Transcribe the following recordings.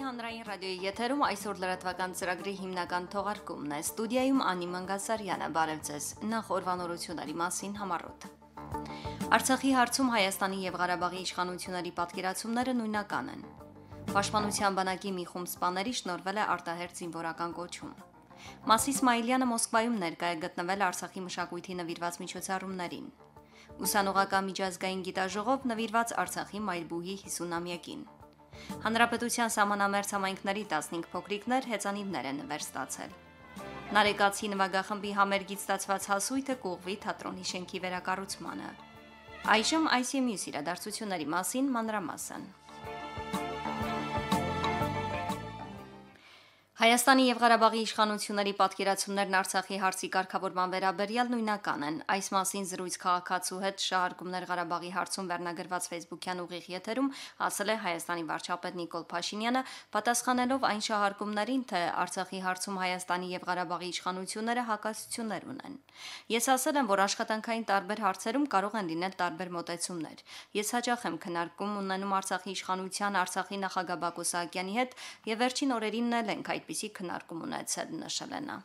հանրային ռադիոյի եթերում այսօր լրատվական ծրագրի հիմնական թողարկումն է։ Ստուդիայում Անի Մանգասարյանը, բարև ձեզ։ Նախ օրվանորությունների մասին համառոտ։ Արցախի հարցում Հայաստանի եւ Ղարաբաղի իշխանությունների պատկերացումները նույնական են։ Պաշտպանության բանակի մի խումբ սպաների շնորհվել է արտահերթ զինվորական կոչում։ Մասի Իսմայիլյանը Մոսկվայում ներկա է գտնվել Արցախի մշակույթի նվիրված միջոցառումներին։ Ուսանողական միջազգային գիտաժողով նվիրված Արցախի մայրբուհի 50-ամյակին։ Հանրապետության սահմանամերձ համայնքների 15 փոքրիկներ հեծանիվներ են նվեր ստացել։ Նարեկացի նվագախմբի համերգից ստացված հասույթը կուղղվի թատրոնի շենքի վերակառուցմանը։ Այժմ այս եւ մյուս իրադարձությունների մասին մանրամասն։ Հայաստանի եւ Ղարաբաղի իշխանությունների պատկերացումներն Արցախի հարցի կարգավորման վերաբերյալ նույնական են։ Այս մասին զրույց քաղաքացու հետ շահարկումներ Ղարաբաղի հարցում վերնագրված Facebook-յան ուղիղ եթերում ասել է Հայաստանի վարչապետ Նիկոլ Փաշինյանը, պատասխանելով այն շահարկումներին, թե Արցախի հարցում Հայաստանի եւ Ղարաբաղի իշխանությունները հակասություններ ունեն։ Ես ասել եմ, որ աշխատանքային տարբեր հարցերում կարող են լինել տարբեր մոտեցումներ։ Ես հաճախ եմ քննարկում ունենում Արցախի իշխանության, Արցախի նախագահ Բակո Սահակյանի հետ եւ վերջին օրերին էլ ենք այդպիսի քննարկում ունեցել, նշել է նա։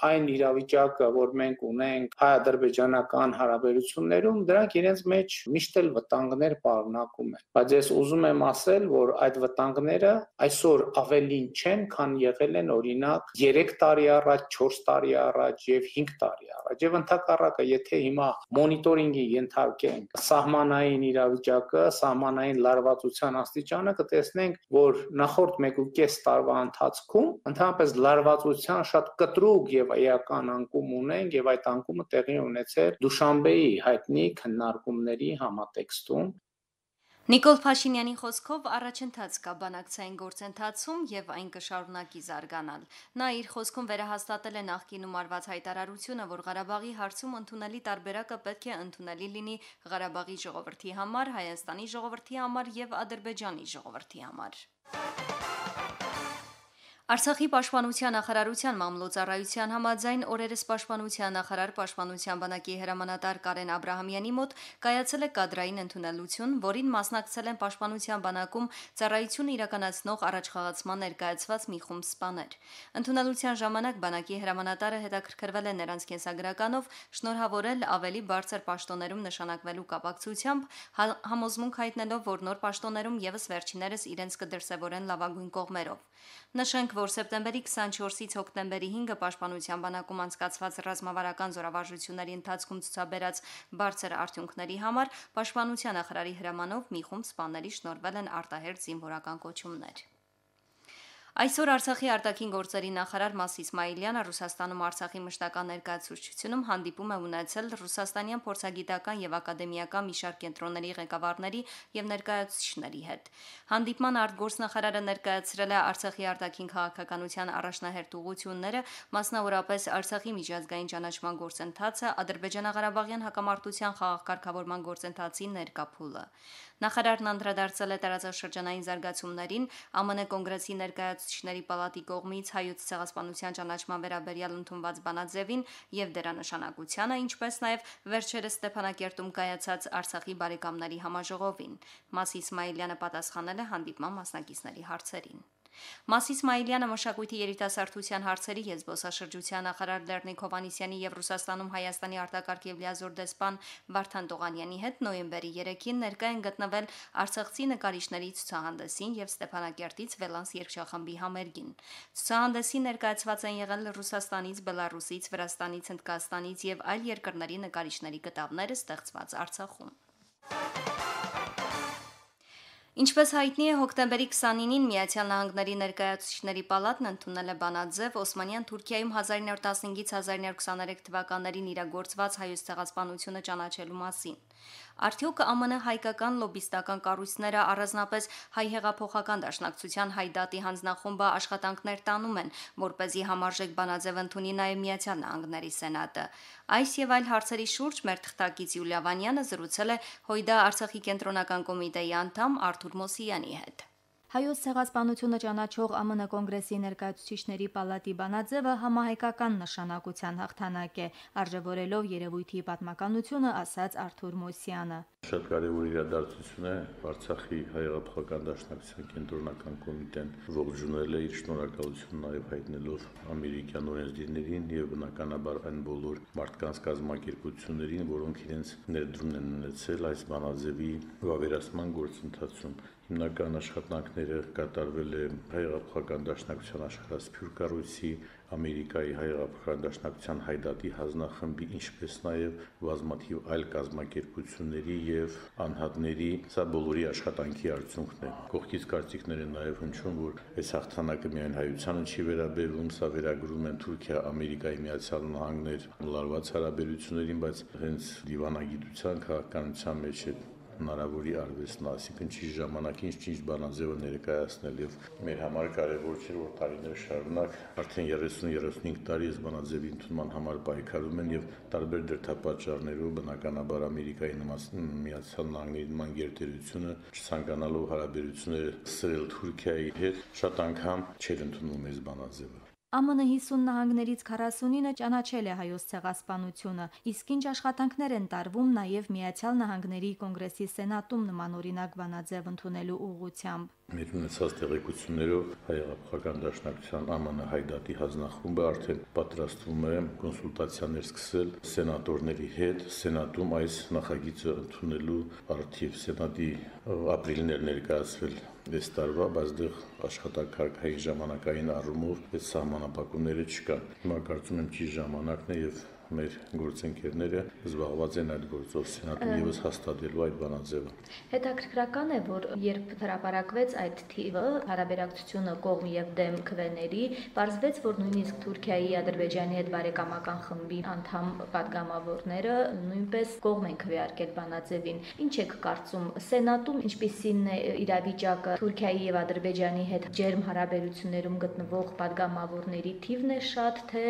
Այն իրավիճակը, որ մենք ունենք հայ-ադրբեջանական հարաբերություններում, դրանք իրենց մեջ միշտ էլ վտանգներ պարունակում են։ Բայց ես ուզում եմ ասել, որ այդ վտանգները այսօր ավելին չեն, քան եղել են օրինակ 3 տարի առաջ, 4 տարի առաջ եւ 5 տարի առաջ։ Եվ ընդհակառակը, եթե հիմա մոնիտորինգի ենթարկենք սահմանային իրավիճակը, սահմանային լարվածության աստիճանը, կտեսնենք, որ նախորդ 1.5 տարվա ընթացքում ընդհանրապես լարվածության շատ կտրուկ եւ էական անկում ունենք եւ այդ անկումը տեղի ունեցել Դուշանբեի հայտնի քննարկումների համատեքստում։ Նիկոլ Փաշինյանի խոսքով առաջընթաց կա բանակցային գործընթացում եւ այն կշարունակի զարգանալ։ Նա իր խոսքում վերահաստատել է նախկինում արված հայտարարությունը, որ Ղարաբաղի հարցում ընդունելի տարբերակը պետք է ընդունելի լինի Ղարաբաղի ժողովրդի համար, Հայաստանի ժողովրդի համար եւ Ադրբեջանի ժողովրդի համար։ Արցախի պաշտպանության նախարարության մամլոյցարայության համաձայն օրերս պաշտպանության նախարար պաշտպանության բանակի հրամանատար Կարեն Աբրահամյանի մոտ կայացել է կադրային ընդունելություն, որին մասնակցել են պաշտպանության բանակում ծառայություն իրականացնող առաջխաղացման ներկայացված մի խումբ սպաներ։ Ընդունելության ժամանակ բանակի հրամանատարը հետաքրքրվել է նրանց կենսագրականով, շնորհավորել ավելի բարձր պաշտոններում նշանակվելու կապակցությամբ, համոզմունք հայտնելով, որ նոր պաշտոններում եւս վերջիներս իրենց կդրսևորեն լավագույն կողմերով։ Նշենք, որ սեպտեմբերի 24-ից հոկտեմբերի 5-ը պաշտպանության բանակում անցկացված ռազմավարական զորավարժությունների ընթացքում ցուցաբերած բարձր արդյունքների համար պաշտպանության նախարարի հրամանով մի խումբ սպաների շնորհվել են արտահերթ զինվորական կոչումներ։ Այսօր Արցախի արտաքին գործերի նախարար Մասի Իսմայիլյանը Ռուսաստանում Արցախի մշտական ներկայացուցչությունում հանդիպում է ունեցել ռուսաստանյան փորձագիտական եւ ակադեմիական մի շարք կենտրոնների ղեկավարների եւ ներկայացուցիչների հետ։ Հանդիպման արտգործնախարարը ներկայացրել է Արցախի արտաքին քաղաքականության առաջնահերթ ուղղությունները, մասնավորապես Արցախի միջազգային ճանաչման գործընթացը, Ադրբեջանա-Ղարաբաղյան հակամարտության խաղաղ-կարգավորման գործընթացի ներկա փուլը։ Նախարարն անդրադարձել է տարածաշրջանային զարգացումներին, ԱՄՆ կոնգրեսի ներկայացուցիչների պալատի կողմից հայոց ցեղասպանության ճանաչման վերաբերյալ ընդունված բանաձևին եւ դրա նշանակությանը, ինչպես նաեւ վերջերս Ստեփանակերտում կայացած Արցախի բարեկամների համաժողովին։ Մասի Իսմայիլյանը պատասխանել է հանդիպման մասնակիցների հարցերին։ Մասի Իսմայիլյանը մշակույթի երիտասարդության հարցերի եւ զբոսաշրջության նախարար Լեռնիկ Հովհաննիսյանի եւ Ռուսաստանում Հայաստանի արտակարգ եւ լիազոր դեսպան Վարդան Տողանյանի հետ նոյեմբերի 3-ին ներկա են գտնվել Արցախցի նկարիչների ցուցահանդեսին եւ Ստեփանակերտից Վելանս երգչախմբի համերգին։ Ցուցահանդեսին ներկայացված են եղել Ռուսաստանից, Բելարուսից, Վրաստանից, Հնդկաստանից եւ այլ երկրների նկարիչների կտավները ստեղծված Արցախում։ Ինչպես հայտնի է, հոկտեմբերի 29-ին Միացյալ Նահանգների ներկայացուցիչների պալատն ընդունել է բանաձև Օսմանյան Թուրքիայում 1915-ից 1923 թվականներին իրագործված հայոց ցեղասպանությունը ճանաչելու մասին։ Արդյոք ԱՄՆ հայկական լոբիստական կառույցները առանձնապես հայ հեղափոխական դաշնակցության Հայդատի հանձնախումբը աշխատանքներ տանում են, որպեսզի համարժեք բանաձև ընդունի նաև Միացյալ Նահանգների Սենատը։ Այս եւ այլ հարցերի շուրջ մեր թղթակից Յուլիա Վանյանը զրուցել է Հույդա Արցախի կենտրոնական կոմիտեի անդամ Արթուր Մոսյանի հետ։ Հայոց ցեղասպանությունը ճանաչող ԱՄՆ կոնգրեսի ներկայացուցիչների պալատի բանաձևը համահայկական նշանակության հաղթանակ է, արժևորելով երևույթի պատմականությունը, ասաց Արթուր Մոսյանը։ Շատ կարևոր իրադարձություն է Արցախի հայ-հեղափոխական դաշնակցության կենտրոնական կոմիտեն ողջունել է իր շնորհակալությունը նաև հայտնելով ամերիկյան օրենսդիրներին եւ բնականաբար այն բոլոր մարդկանց կազմակերպություններին, որոնք իրենց ներդրումն են ունեցել այս բանաձևի վավերացման գործընթացում։ Հիմնական աշխատանքները կատարվել է հայ-հեղափոխական դաշնակցության աշխարհասփյուռ կառույցի, Ամերիկայի հայ-հեղափոխական դաշնակցության հայդատի հանձնախմբի, ինչպես նաև բազմաթիվ այլ կազմակերպությունների եւ անհատների, սա բոլորի աշխատանքի արդյունքն է։ Կողքից կարծիքներ են նաև հնչում, որ այս հաղթանակը միայն հայությանը չի վերաբերվում, սա վերագրում են Թուրքիա, Ամերիկայի Միացյալ Նահանգներ լարված հարաբերություններին, բայց հենց դիվանագիտության քաղաքականության մեջ է հնարավորի արվեստն, այսինքն ճիշտ ժամանակին ճիշտ բանաձևը ներկայացնել եւ մեր համար կարեւոր չէ, որ տարիներ շարունակ արդեն 30-35 տարի այս բանաձևի ընդունման համար պայքարում են եւ տարբեր դրդապատճառներով բնականաբար Ամերիկայի Միացյալ Նահանգների նման գերտերությունը չցանկանալով հարաբերությունները սրել Թուրքիայի հետ շատ անգամ չէր ընդունում այս բանաձևը։ ԱՄՆ 50 նահանգներից 49-ը ճանաչել է հայոց ցեղասպանությունը, իսկ ինչ աշխատանքներ են տարվում նաև Միացյալ Նահանգների կոնգրեսի սենատում նմանօրինակ բանաձև ընդունելու ուղղությամբ։ Մեր ունեցած տեղեկություններով հայ-հեղափոխական դաշնակցության ԱՄՆ հայդատի հանձնախումբը արդեն պատրաստվում է կոնսուլտացիաներ սկսել սենատորների հետ, սենատում այս նախագիծը ընդունելու առթիվ սենատի ապրիլներ ներկայացվել այս տարվա, բայց դեռ աշխատակարգային ժամանակային առումով այս սահմանափակումները չկան։ Հիմա կարծում եմ ճիշտ ժամանակն է եւ մեր գործընկերները զբաղված են այդ գործով սենատում եւս հաստատելու այդ բանաձևը։ Հետաքրքրական է, որ երբ հրապարակվեց այդ թիվը, հարաբերակցությունը կողմ եւ դեմ քվեների, պարզվեց, որ նույնիսկ Թուրքիայի, Ադրբեջանի հետ բարեկամական խմբի անդամ падգամավորները նույնպես կողմ են քվեարկել բանաձևին։ Ինչ եք կարծում, սենատում ինչպիսին է իրավիճակը, Թուրքիայի եւ Ադրբեջանի հետ ջերմ հարաբերություններում գտնվող падգամավորների թիվն է շատ, թե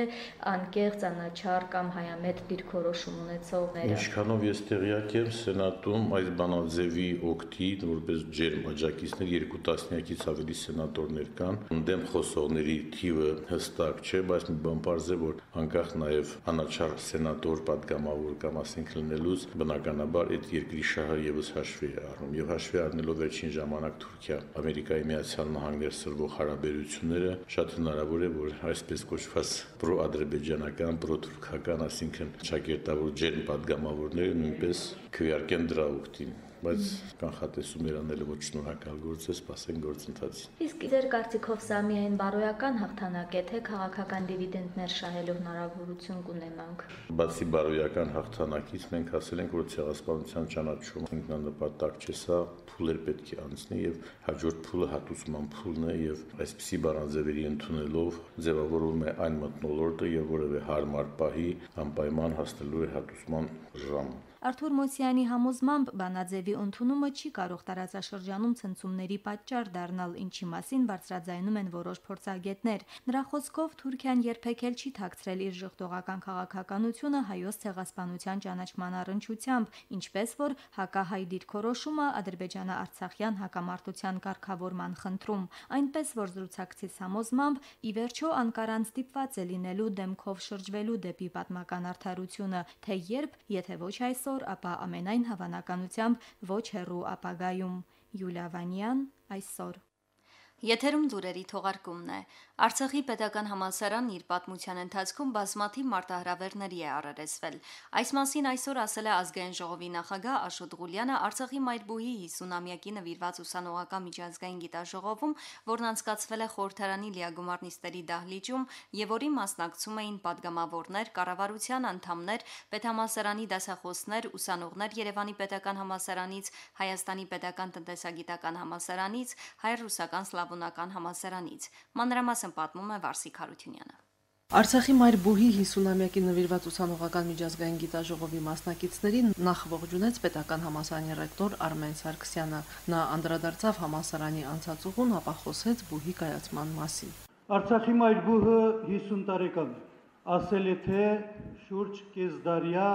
անկեղծ անաչառ կամ հայամետ դիրքորոշում ունեցողները։ Ինչքանով ես տեղյակ եմ, սենատում այս բանաձևի օգտի որպես ջերմ աջակիցներ 2 տասնյակից ավելի սենատորներ կան։ Դեմ խոսողների թիվը հստակ չէ, բայց մի բան պարզ է, որ անկախ նաև անաչառ սենատոր падգամավոր կամ ասենք լինելուց, բնականաբար այդ երկրի շահը եւս հաշվի է առնում եւ հաշվի առնելով վերջին ժամանակ Թուրքիա, Ամերիկայի Միացյալ Նահանգներ սրվող հարաբերությունները, շատ հնարավոր է, որ այսպես կոչված պրո-ադրբեջանական, պրո-թուրքական, այսինքն ճակերտավոր ջերմ падգամավորները նույնպես քվեարկեն դրա օգտին, բայց կանխատեսումներ անելը ոչ շնորհակալ գործ է, սպասենք գործընթացին։ Իսկ ձեր կարծիքով սա միայն բարոյական հաղթանակ է, թե քաղաքական դիվիդենդներ շահելու հնարավորություն կունենանք։ Բացի բարոյական հաղթանակից մենք ասել ենք, որ ցեղասպանության ճանաչումը ինքնանպատակ չէ, սա փուլեր պետք է անցնի եւ հաջորդ փուլը հատուցման փուլն է եւ այսպիսի բանաձևերի ընդունելով ձևավորվում է այն մթնոլորտը եւ որևէ հարմար պահի անպայման հասնելու է հատուցման ժամը։ Արթուր Մոսյանի համոզմամբ բանաձևի ընդունումը չի կարող տարածաշրջանում ցնցումների պատճառ դառնալ, ինչի մասին բարձրաձայնում են որոշ փորձագետներ։ Նրա խոսքով Թուրքիան երբեք էլ չի թաքցրել իր ժողովրդական քաղաքականությունը հայոց ցեղասպանության ճանաչման առնչությամբ, ինչպես որ հակահայ դիրքորոշումը ադրբեջանա-արցախյան հակամարտության կարգավորման խնդրում, այնպես որ զրուցակցից համոզմամբ ի վերջո Անկարան ստիպված է լինելու դեմքով շրջվելու դեպի պատմական արդարությունը, թե երբ, եթե ոչ այսօր, ապա ամենայն հավանականությամբ ոչ հեռու ապագայում։ Յուլիա Վանյան, այսօր։ Եթերում լուրերի թողարկումն է։ Արցախի պետական համալսարանն իր պատմության ընթացքում բազմաթիվ մարտահրավերների է առերեսվել։ Այս մասին այսօր ասել է ազգային ժողովի նախագահ Աշոտ Ղուլյանը Արցախի Մայրբուհի 50-ամյակի նվիրված ուսանողական միջազգային գիտաժողովում, որն անցկացվել է խորհրդարանի լիագումար նիստերի դահլիճում եւ որի մասնակցում էին падգամավորներ, կառավարության անդամներ, պետհամալսարանի դասախոսներ, ուսանողներ Երևանի պետական համալսարանից, Հայաստանի պետական տնտեսագիտական համալսարանից, հայ-ռուսական սլավոնական համալսարանից։ Մանրամասն պատմում է Վարսիկ Հարությունյանը։ Արցախի Մայրբուհի 50-ամյակի նվիրված ուսանողական միջազգային գիտաժողովի մասնակիցներին նախ ողջունեց պետական համալսարանի ռեկտոր Արմեն Սարգսյանը։ Նա անդրադարձավ համալսարանի անցած ուղուն, ապա խոսեց բուհի կայացման մասին։ Արցախի Մայրբուհը 50 տարեկան է։ Ասել է թե շուրջ կեսդարյա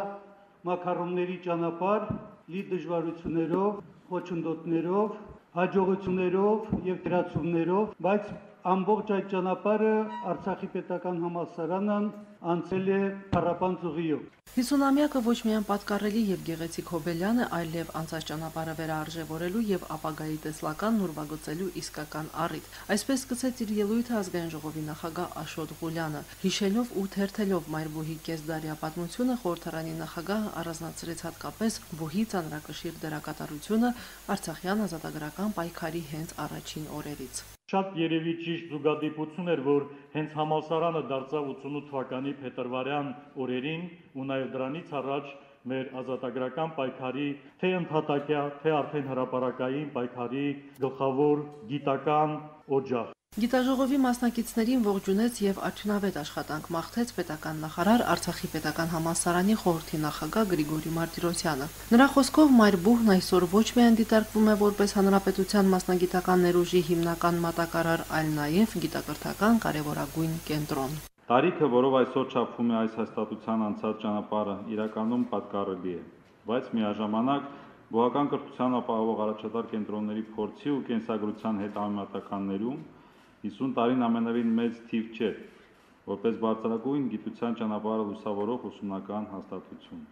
մակարոնների ճանապարհ լի դժվարություններով, խոչընդոտներով, հաջողություններով եւ դրացումներով, բայց ամբողջ այդ ճանապարհը Արցախի պետական համալսարանն անցել է փառապանծ ուղիով։ 50-ամյակը ոչ միայն պատկառելի եւ գեղեցիկ հոբելյան է, այլև անցած ճանապարհը վերարժևորելու եւ ապագայի տեսլական նորվագծելու իսկական առիթ։ Այսպես սկսեց իր ելույթը ազգային ժողովի նախագահ Աշոտ Ղուլյանը, հիշելով ու թերթելով Մայրբուհի կեսդարյա պատմությունը, խորհրդարանի նախագահը առանձնացրեց հատկապես բուհի ծանրակշիռ դերակատարությունը Արցախյան ազատագրական պայքարի հենց առաջին օրերից։ Շատ երևի ճիշտ զուգադիպություն էր, որ հենց համալսարանը դարձավ 88 թվականի փետրվարյան օրերին ու նաև դրանից առաջ մեր ազատագրական պայքարի թե ընդհատակյա, թե արդեն հրապարակային պայքարի գլխավոր գիտական օջախ։ Գիտաժողովի մասնակիցներին ողջունեց եւ արդյունավետ աշխատանք մաղթեց պետական նախարար Արցախի պետական համալսարանի խորհրդի նախագահ Գրիգորի Մարտիրոսյանը։ Նրա խոսքով Մայրբուհն այսօր ոչ միայն դիտարկվում է որպես հանրապետության մասնագիտական ներուժի հիմնական մատակարար, այլ նաեւ գիտակրթական կարևորագույն կենտրոն։ Տարիքը, որով այսօր չափվում է այս հաստատության անցած ճանապարհը, իրականում պատկառելի է, բայց միաժամանակ բուհական կրթության ապահովող առաջատար կենտրոնների փորձի ու կենսագրության հետ համեմատականներում 50 տարին ամենևին մեծ թիվ չէ, որպես բարձրագույն գիտության ճանապարհը լուսավորող ուսումնական հաստատություն։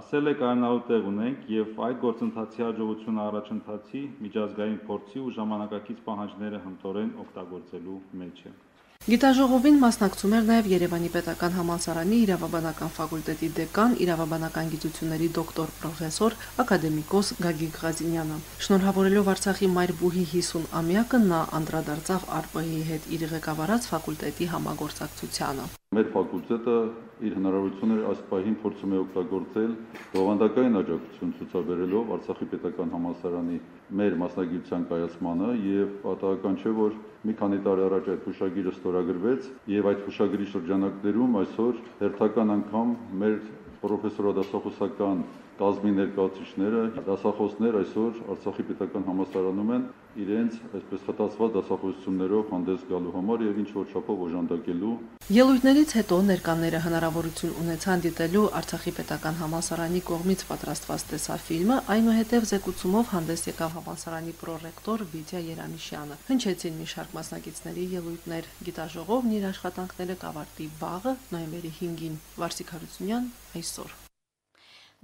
Ասել է կայանալու տեղ ունենք եւ այդ գործընթացի հաջողությունը առաջընթացի, միջազգային փորձի ու ժամանակակից պահանջները հմտորեն օգտագործելու մեջ է։ Գիտաժողովին մասնակցում էր նաև Երևանի պետական համալսարանի իրավաբանական ֆակուլտետի դեկան, իրավաբանական գիտությունների դոկտոր պրոֆեսոր, ակադեմիկոս Գագիկ Ղազինյանը։ Շնորհավորելով Արցախի Մայրբուհի 50-ամյակը նա անդրադարձավ ԱՌՊ-ի հետ իր ղեկավարած ֆակուլտետի համագործակցությանը։ Մեր ֆակուլտետը իր հնարավորությունները այս պահին փորձում է օգտագործել բովանդակային աջակցություն ցուցաբերելով Արցախի պետական համալսարանի մեր մասնագիտության կայացմանը եւ պատահական չէ, որ մի քանի տարի առաջ այդ հուշագիրը ստորագրվեց եւ այդ հուշագրի շրջանակներում այսօր հերթական անգամ մեր պրոֆեսորադասախոսական կազմի ներկայացուցիչները, դասախոսներ այսօր Արցախի պետական համալսարանում են իրենց այսպես խտացված դասախոսություններով հանդես գալու համար եւ ինչ որ չափով օժանդակելու։ Ելույթներից հետո ներկաները հնարավորություն ունեցան դիտելու Արցախի պետական համալսարանի կողմից պատրաստված տեսաֆիլմը, այնուհետև զեկուցումով հանդես եկավ համալսարանի պրոռեկտոր Վիտյա Երանիշյանը։ Հնչեցին մի շարք մասնակիցների ելույթներ։ Գիտաժողովն իր աշխատանքները կավարտի վաղը, նոյեմբերի 5-ին։ Վարսիկ Հարությունյան այսօր։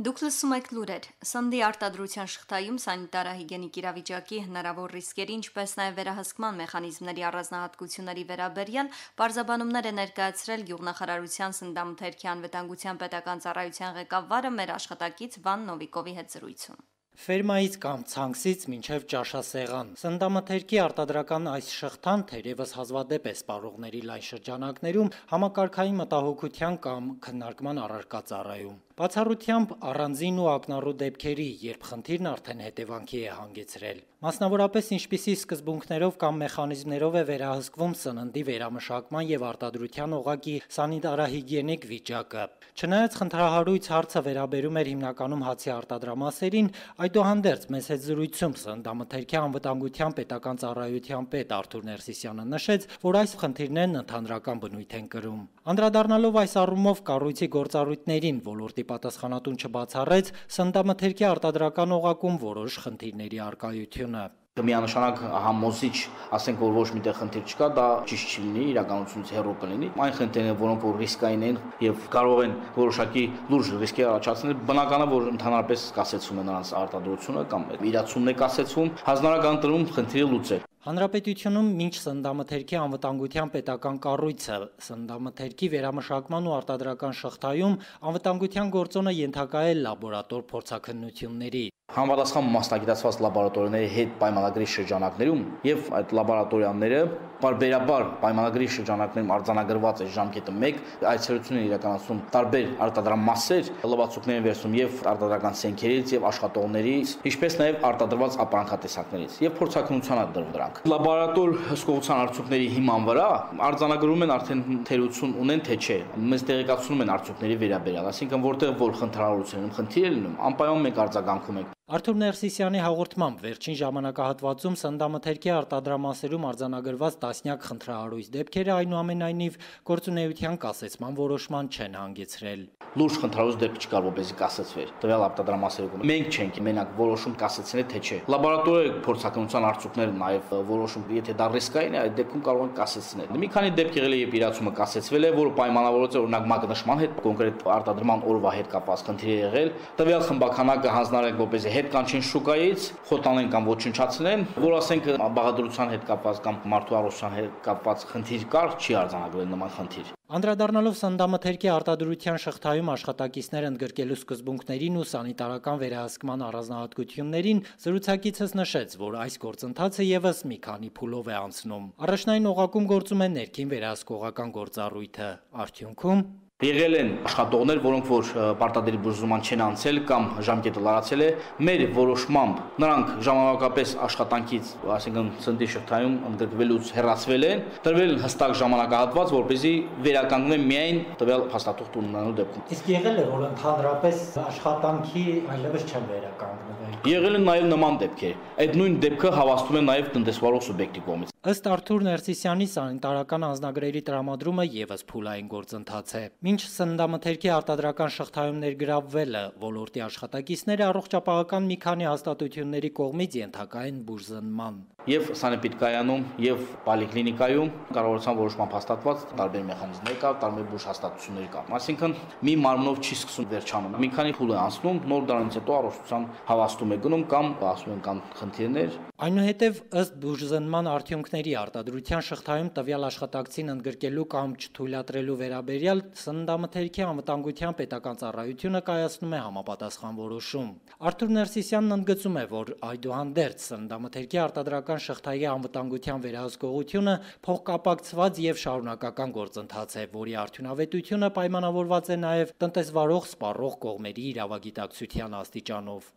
Դուք լսում եք լուրեր։ Սննդի արտադրության շղթայում սանիտարահիգենիկ իրավիճակի հնարավոր ռիսկերի, ինչպես նաև վերահսկման մեխանիզմների առանձնահատկությունների վերաբերյալ պարզաբանումներ է ներկայացրել Գյուղնախարարության սննդամթերքի անվտանգության պետական ծառայության ղեկավարը մեր աշխատակից Վան Նովիկովի հետ զրույցում։ Ֆերմայից կամ ցանքսից մինչև ճաշասեղան։ Սննդամթերքի արտադրական այս շղթան թերևս հազվադեպ է սպառողների լայն շրջանակներում համակարգային մտահոգության կամ քննարկման առարկա ծառայում։ Բացառությամբ առանձին ու ակնառու դեպքերի, երբ խնդիրն արդեն հետևանքի է հանգեցրել։ Մասնավորապես ինչպիսի սկզբունքներով կամ մեխանիզմներով է վերահսկվում սննդի վերամշակման եւ արտադրության օղակի սանիտարահիգիենիկ վիճակը։ Չնայած խնդրահարույց հարցը վերաբերում էր հիմնականում հացի արտադրամասերին, այդուհանդերձ մեծ հետ զրույցում սննդամթերքի անվտանգության պետական ծառայության պետ Արթուր Ներսիսյանը նշեց, որ այս խնդիրներն ընդհանրական բնույթ են կրում։ Անդրադառնալով այս առումով կառույցի գործառույթներին ոլորտի պատասխանատուն չբացառեց սննդամթերքի արտադրական օղակում որոշ խնդիրների առկայությունը։ Միանշանակ համոզիչ, ասենք որ ոչ միտեղ խնդիր չկա, դա ճիշտ չի լինի, իրականությունից հեռու կլինի։ Այն խնդիրները, որոնք որ ռիսկային են եւ կարող են որոշակի լուրջ ռիսկեր առաջացնել, բնական է, որ ընդհանրապես կասեցում է նրանց արտադրությունը կամ իրացումն է կասեցում, հանրական տրում խնդիրը լուծել։ Հանրապետությունում մինչ սննդամթերքի անվտանգության պետական կառույցը սննդամթերքի վերամշակման ու արտադրական շղթայում անվտանգության գործոնը ենթակա է լաբորատոր փորձաքննությունների։ Համապատասխան մասնագիտացված լաբորատորիաների հետ պայմանագրի շրջանակներում եւ այդ լաբորատորիաները բարբերաբար պայմանագրի շրջանակներում արձանագրված է ժամկետը 1, այցելություններ իրականացում տարբեր արտադրամասեր, լվացուկներ են վերցնում եւ արտադրական սենքերից եւ աշխատողներից, ինչպես նաեւ արտադրված ապրանքատեսակներից եւ փորձաքննության դրվում դրանք։ Լաբորատոր հսկողության արդյունքների հիման վրա արձանագրում են արդեն թերություն ունեն թե չէ։ Մեզ տեղեկացնում են արդյունքների վերաբերյալ, այսինքն որտեղ որ խնդրահարություն են, խնդիր է լինում, անպայման մենք արձագանքում ենք։ Արթուր Ներսիսյանի հաղորդմամբ վերջին ժամանակահատվածում սննդամթերքի արտադրամասերում արձանագրված տասնյակ խնդրահարույց դեպքերը այնուամենայնիվ գործունեության կասեցման որոշման չեն հանգեցրել։ Լուրջ խնդրահարույց դեպք չկար, որպեսզի կասեցվեր տվյալ արտադրամասերում։ Մենք չենք մենակ որոշում կասեցնել, թե չէ։ Լաբորատորիայի փորձակնության արդյունքները նաև որոշում, եթե դա ռիսկային է, այդ դեպքում կարող են կասեցնել։ Մի քանի դեպք եղել է, երբ իրացումը կասեցվել է, որը պայմանավորված է օրինակ մագնշման հետ, կոնկրետ արտադրման օրվա հետ կապված խնդիր է եղել։ Տվյալ խմբականակը հանձնարարենք, որպեսզի հետ կանչեն շուկայից, խոտանեն կամ ոչնչացնեն, որ ասենք բաղադրության հետ կապված կամ մարդու առողջության հետ կապված խնդիր կար, չի արձանագրվել նման խնդիր։ Անդրադառնալով սննդամթերքի արտադրության շղթայում աշխատակիցներ ընդգրկելու սկզբունքներին ու սանիտարական վերահսկման առանձնահատկություններին, զրուցակիցս նշեց, որ այս գործընթացը ևս մի քանի փուլով է անցնում։ Առաջնային օղակում գործում է ներքին վերահսկողական գործառույթը, արդյունքում Եղել են աշխատողներ, որոնք որ պարտադիր բուժման չեն անցել կամ ժամկետը լարացել է, մեր որոշմամբ նրանք ժամանակապես աշխատանքից, այսինքն սննդի շղթայում ընդգրկվելուց հեռացվել են, տրվել հստակ ժամանակահատված, որպեսզի վերականգնեն միայն տվյալ փաստաթուղթ ունենալու դեպքում։ Իսկ եղել է, որ ընդհանրապես աշխատանքի այլևս չեն վերականգնվել։ Եղել են նաև նման դեպքեր։ Այդ նույն դեպքը հավաստում է նաև տնտեսվարող սուբյեկտի կողմից։ Ըստ Արթուր Ներսիսյանի սանիտարական անձնագրերի տրամադրումը ևս փուլային գործընթաց է։ Մինչ սննդամթերքի արտադրական շղթայում ներգրավվելը ոլորտի աշխատակիցները առողջապահական մի քանի հաստատությունների կողմից ենթակա են բուժզնման։ Եվ սանեպիդկայանում, եւ պոլիկլինիկայում կառավարության որոշմամբ հաստատված տարբեր մեխանիզմներ կա, տարբեր բուժ հաստատություններ կա։ Այսինքն մի մարմնով չի սկսում վերջանում։ Մի քանի փուլ է անցնում, նոր դրանից հետո առողջության հավաստում է գնում կամ ասում են կան խնդիրներ։ Այնուհետև ըստ բուժզնման արդյունքների արտադրության շղթայում տվյալ աշխատակցին ընդգրկելու կամ չթույլատրելու վերաբերյալ սննդամթերքի անվտանգության պետական ծառայությունը կայացնում է համապատասխան որոշում։ Արթուր Ներսիսյանն ընդգծում է, որ այդուհանդերձ սննդամթերքի արտադրական շղթայի անվտանգության վերահսկողությունը փոխկապակցված եւ շարունակական գործընթաց է, որի արդյունավետությունը պայմանավորված է նաեւ տնտեսվարող սպառող կողմերի իրավագիտակցության աստիճանով։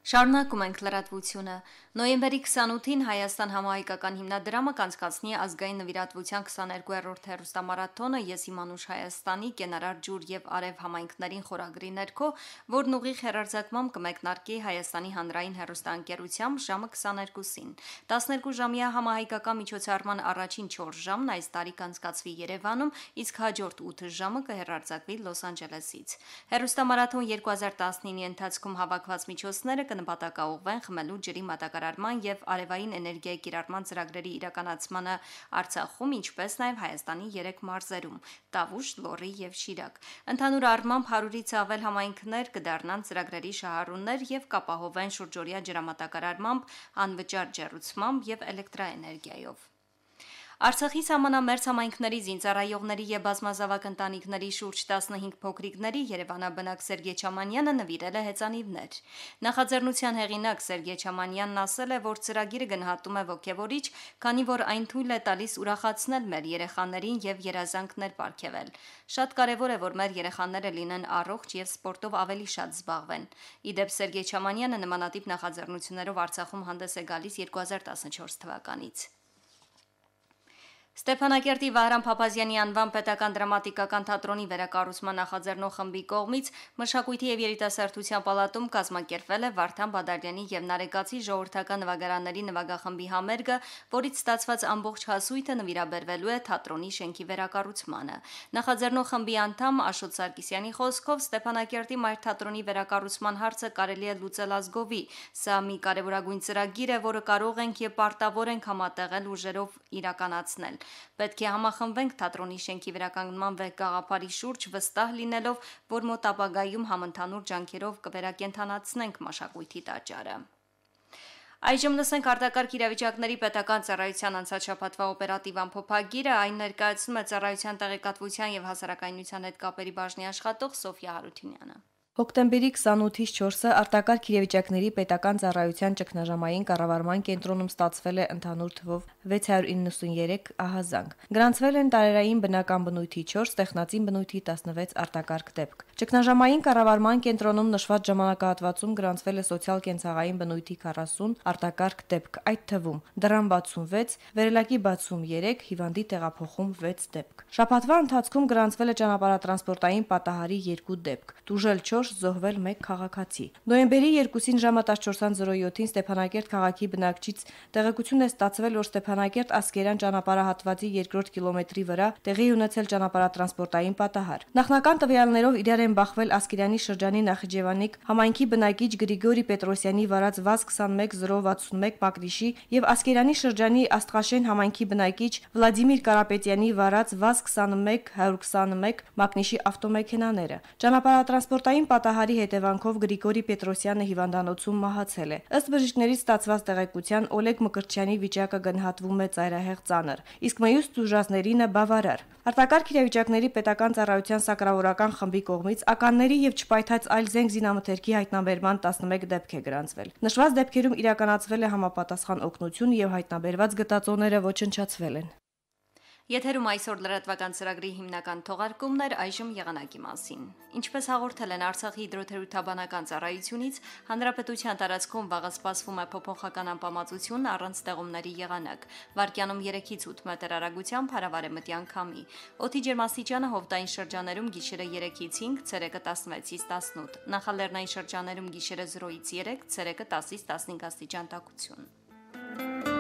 Շարունակում ենք լրատվությունը։ Նոյեմբերի 28-ին Հայաստան համահայկական հիմնադրամը կանցկացնի ազգային նվիրատվության 22-րդ հեռուստամարաթոնը «Ես իմ անուշ Հայաստանի» կենարար ջուր եւ արև համայնքներին խորագրի ներքո, որն ուղիղ հեռարձակմամբ կմեկնարկի Հայաստանի հանրային հեռուստաընկերությամբ ժամը 22-ին։ 12-ժամյա համահայկական միջոցառման առաջին 4 ժամն այս տարի կանցկացվի Երևանում, իսկ հաջորդ 8 ժամը կհեռարձակվի Լոս Անջելեսից։ Հեռուստամարաթոն 2019-ի ընթացքում հավաքված միջոցները կնպատակաուղղվեն խմելու ջրի մատակարարման եւ արևային էներգիայի կիրառման ծրագրերի իրականացմանը Արցախում, ինչպես նաեւ Հայաստանի 3 մարզերում՝ Տավուշ, Լոռի եւ Շիրակ։ Ընդհանուր առմամբ 100-ից ավել համայնքներ կդառնան ծրագրերի շահառուներ եւ կապահովեն շուրջօրյա ջրամատակարարմամբ, անվճար ջեռուցմամբ եւ էլեկտրաէներգիայով։ Արցախի սահմանամերձ համայնքների զինծառայողների եւ բազմազավակ ընտանիքների շուրջ 15 փոքրիկների երևանաբնակ Սերգեյ Չամանյանը նվիրել է հեծանիվներ։ Նախաձեռնության հեղինակ Սերգեյ Չամանյանն ասել է, որ ծրագիրը գնահատում է ոգևորիչ, քանի որ այն թույլ է տալիս ուրախացնել մեր երեխաներին եւ երազանքներ պարգեւել։ Շատ կարեւոր է, որ մեր երեխաները լինեն առողջ եւ սպորտով ավելի շատ զբաղվեն։ Իդեպ Սերգեյ Չամանյանը նմանատիպ նախաձեռնություններով Արցախում հանդես է գալիս 2014 թվականից։ Ստեփանակերտի Վահրամ Փափազյանի անվան պետական դրամատիկական թատրոնի վերակառուցման նախաձեռնող խմբի կողմից Մշակույթի եւ երիտասարդության պալատում կազմակերպվել է Վարդան Բադալյանի եւ Նարեկացի ժողովրդական նվագարանների նվագախմբի համերգը, որից ստացված ամբողջ հասույթը նվիրաբերվելու է թատրոնի շենքի վերակառուցմանը։ Նախաձեռնող խմբի անդամ Աշոտ Սարգսյանի խոսքով Ստեփանակերտի մայր թատրոնի վերակառուցման հարցը կարելի է լուծել ազգովի։ Սա մի կարևորագույն ծրագիր է, որը կարող ենք եւ պարտավոր ենք համատեղել ուժերով իրականացնել։ Պետք է համախմբվենք թատրոնի շենքի վերականգնման գաղափարի շուրջ, վստահ լինելով, որ մոտ ապագայում համընդհանուր ջանքերով կվերակենդանացնենք մշակույթի տաճարը։ Այժմ լսենք արտակարգ իրավիճակների պետական ծառայության անցած շաբաթվա օպերատիվ ամփոփագիրը, այն ներկայացնում է ծառայության տեղեկատվության եւ հասարակայնության հետ կապերի բաժնի աշխատող Սոֆիա Հարությունյանը։ Հոկտեմբերի 28-ից 4-ը արտակարգ իրավիճակների պետական ծառայության ճգնաժամային կառավարման կենտրոնում ստացվել է ընդհանուր թվով 693 ահազանգ։ Գրանցվել են տարերային բնական բնույթի 4, տեխնացին բնույթի 16 արտակարգ դեպք։ Ճգնաժամային կառավարման կենտրոնում նշված ժամանակահատվածում գրանցվել է սոցիալ-կենցաղային բնույթի 40 արտակարգ դեպք, այդ թվում դռան 66, վերելակի 63, հիվանդի տեղափոխում 6 դեպք։ Շաբաթվա ընթացքում գրանցվել է ճանապարհատրանսպորտային պատահարի 2 դեպք, տուժել 4 որոշ զոհվել 1 քաղաքացի։ Նոյեմբերի 2-ին ժամը 14:07-ին Ստեփանակերտ քաղաքի բնակչից տեղեկություն է ստացվել, որ Ստեփանակերտ Ասկերան ճանապարհահատվածի 2-րդ կիլոմետրի վրա տեղի ունեցել ճանապարհատրանսպորտային պատահար։ Նախնական տվյալներով իրար են բախվել Ասկերանի շրջանի Նախիջևանիկ համայնքի բնակիչ Գրիգորի Պետրոսյանի վարած ՎԱԶ-21061 մակնիշի եւ Ասկերանի շրջանի Աստղաշեն համայնքի բնակիչ Վլադիմիր Կարապետյանի վարած ՎԱԶ-21121 մակնիշի ավտոմեքենաները։ Ճանապարհատրանսպորտային պատահարի հետևանքով Գրիգորի Պետրոսյանը հիվանդանոցում մահացել է։ Ըստ բժիշկներից ստացված տեղեկության Օլեգ Մկրտչյանի վիճակը գնահատվում է ծայրահեղ ծանր, իսկ մյուս տուժածներինը բավարար։ Արտակարգ իրավիճակների պետական ծառայության սակրավորական խմբի կողմից ականների եւ չպայթած այլ զենք զինամթերքի հայտնաբերման 11 դեպք է գրանցվել։ Նշված դեպքերում իրականացվել է համապատասխան օգնություն եւ հայտնաբերված գտածոները ոչնչացվել են։ Եթերում այսօր լրատվական ծրագրի հիմնական թողարկումներ, այժմ եղանակի մասին։ Ինչպես հաղորդել են Արցախի հիդրոթերապևտաբանական ծառայությունից, հանրապետության տարածքում վաղը սպասվում է փոփոխական անպամացություն առանց ստեղումների եղանակ։ Վարկյանում 3-ից 8 մետր արագությամբ հարավարեմտյան քամի։ Օդի ջերմաստիճանը հովտային շրջաներում գիշերը 3-ից 5, ցերեկը 16-ից 18։ Նախալեռնային շրջաներում գիշերը 0-ից 3, ցերեկը 10-ից 15 աստիճան տաքություն։